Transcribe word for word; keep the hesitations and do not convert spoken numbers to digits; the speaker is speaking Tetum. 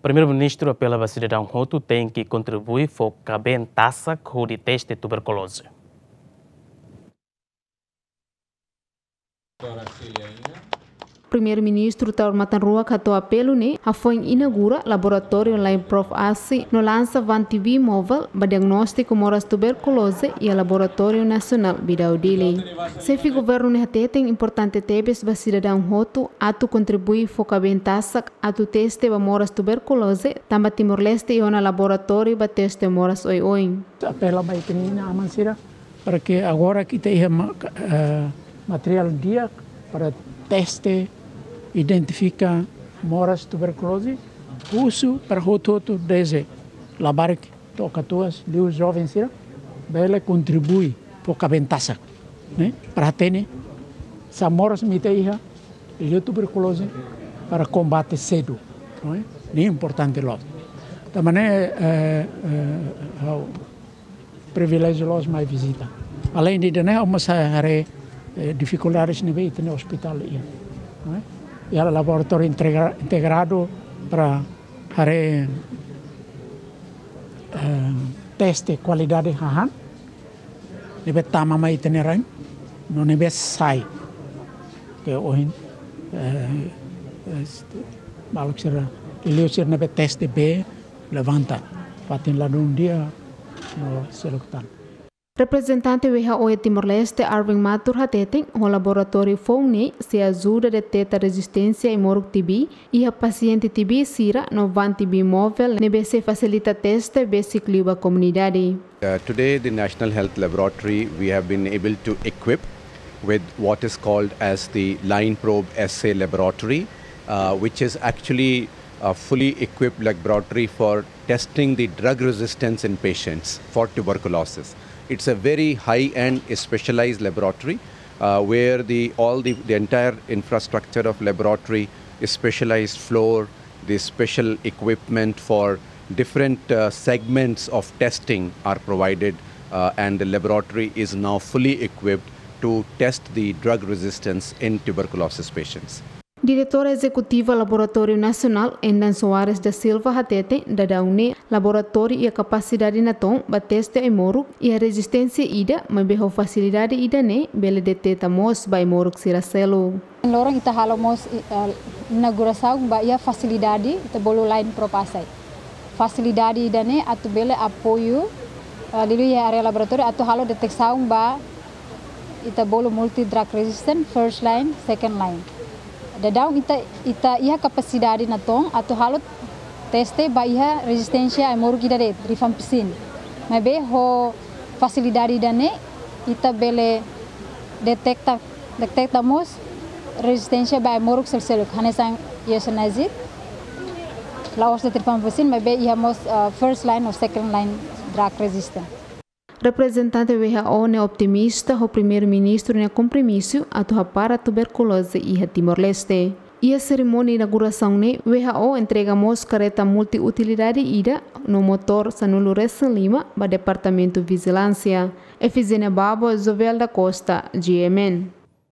Primeiru-Ministru apela ba sidadaun hotu tenke kontribui fó kabeen tasak hodi teste tuberkuloze. Primeiru-Ministru Taur Matan Ruak hato'o apelu ne'e hafoin inaugura laboratóriu Line Probe ASI no lansa van T B móvel ba diagnóstiku moras tuberkuloze iha Laboratóriu Nasionál Bidau Dili. Xefe Governu ne'e hateten importante tebes ba sidadaun hotu atu kontribui fó kabeen tasak atu teste ba moras tuberkuloze, tanba Timor-Leste iha ona laboratóriu ba teste moras oioin. Apela ba ita-nia inan-aman sira, para que agora ita iha ma-, eh, materiál di'ak para teste, identifika moras tuberkuloze, husu para hotu-hotu, dezde labarik to'o katuas, liu joven sira, bele kontribui fó kabeen tasak, ne'e? Para hatene sá moras mak ita iha, liu tuberkuloze, para kombate sedu, ne'e? Ne'e importante loos. Tanba ne'e, eh, eh, ha'u priviléjiu loos mai vizita. Aleinde ida-ne'e, ha'u mós haree, eh, difikuldades ne'ebé ita-nia ospitál iha, ne'e? Iha laboratóriu integra-, integradu para haree, eh, teste kualidade hahán ne'ebé tama mai ita-nia rain, no ne'ebé sai. Ke ohin, eh, eh, maluk sira, liuliu sira ne'ebé teste bee, levanta, fatin ladún di'ak no seluk tan. Reprezentante W H O iha Timor-Leste, Arvin Matur, hateten ho laboratóriu foun ne'e sei ajuda deteta rezisténsia ai-moruk T B iha pasiente T B sira no van T B móvel ne'ebé sei fasilita teste besik liu ba komunidade. Uh, today, the National Health Laboratory, we have been able to equip with what is called as the Line Probe Assay Laboratory, uh, which is actually a fully equipped laboratory for testing the drug resistance in patients for tuberculosis. It's a very high-end specialized laboratory, uh, where the, all the, the entire infrastructure of laboratory, specialized floor, the special equipment for different, uh, segments of testing are provided, uh, and the laboratory is now fully equipped to test the drug resistance in tuberculosis patients. Diretora Ezekutiva Laboratóriu Nasionál, Endan Soares da Silva, hateten daudaun ne'e laboratóriu iha kapasidade natoon ba teste ai-moruk iha rezisténsia ida, maibé ho fasilidade ida-ne'e bele deteta mós ba ai-moruk sira seluk. Loron ita halo mós, eh, inaugurasaun ba iha fasilidade ita bolu Line Probe Assay. Fasilidade ida-ne'e atu bele apoiu, eh, liuliu iha área laboratóriu atu halo detesaun ba ita bolu multi drug resistant, first line, second line. Daudaun ita, ita iha kapasidade natoon atu halo teste ba iha rezisténsia ai-moruk ida de'it, rifampicin. Maibé ho fasilidade ida-ne'e ita bele deteta, deteta mós rezisténsia ba ai-moruk sel-, seluk, hanesan isoniazid, la'ós de'it rifampicin, maibé iha mós, uh, first line ou second line drug resistant. Reprezentante W H O ne'e optimista ho Primeiru-Ministru nia kompromisu atu hapara tuberkuloze iha Timor-Leste. Iha serimónia inaugurasaun ne'e, W H O entrega mós kareta multiutilidade ida no motór sanulu-resin-lima ba Departamentu Vijilánsia. Efigénia Babo, Jovel da Costa, G M N.